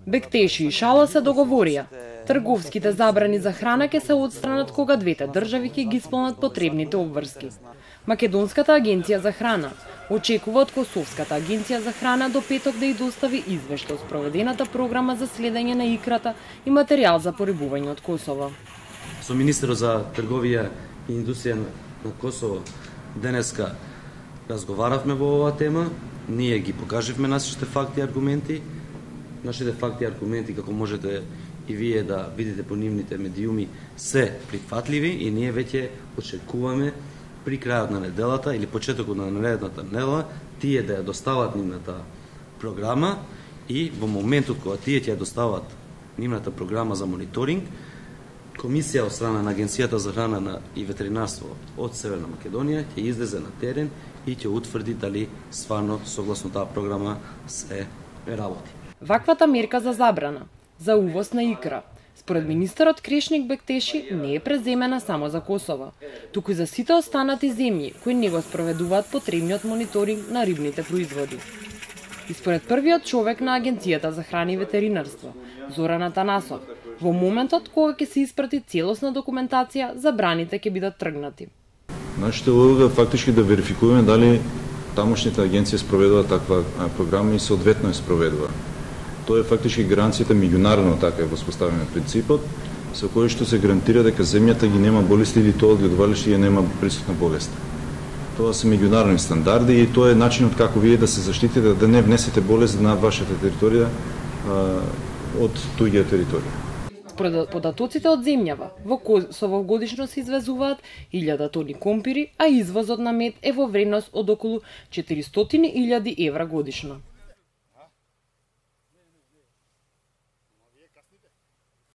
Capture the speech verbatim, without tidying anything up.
Бектеши и Шала се договорија. Трговските забрани за храна ќе се отстранат кога двете држави ќе ги исполнат потребните обврски. Македонската агенција за храна очекува од Косовската агенција за храна до петок да ја достави извештај од спроведената програма за следење на икрата и материјал за порибување од Косово. Со министерот за трговија и индустрија на Косово денеска разговаравме во оваа тема. Ние ги покажавме нашите факти и аргументи. Нашите факти и аргументи, како можете и вие да видите по нивните медиуми, се прифатливи и ние веќе очекуваме при крајот на неделата или почетокот на наредната недела тие да ја достават нивната програма и во моментот кога тие ќе ја достават нивната програма за мониторинг, комисија од страна на Агенцијата за храна и ветеринарство од Северна Македонија ќе излезе на терен и ќе утврди дали стварно согласно таа програма се работи. Ваквата мерка за забрана за увоз на икра, според министерот Крешник Бектеши, не е преземена само за Косово, туку и за сите останати земји кои не го спроведуваат потребниот мониторинг на рибните производи. И според првиот човек на Агенцијата за храна и ветеринарство, Зоран Атанасов, во моментот кога ќе се испрати целосна документација, забраните ќе бидат тргнати. Нашата улога фактички да верификуваме дали тамошните агенции спроведува таква програма и соодветно ја спроведува. Тоа е фактички гаранцијата меѓународно така е воспоставена принципот, со кој што се гарантира дека земјата ги нема болести или тоа одгледувалиште ја нема присутна болест. Тоа се меѓународни стандарди и тоа е начинот како вие да се заштитите да не внесете болест на вашата територија а, од туѓа територија. Според податоците од земјава, во Косово годишно се извезуваат илјада тони компири, а извозот на мед е во вредност од околу четиристотини илјади евра годишно.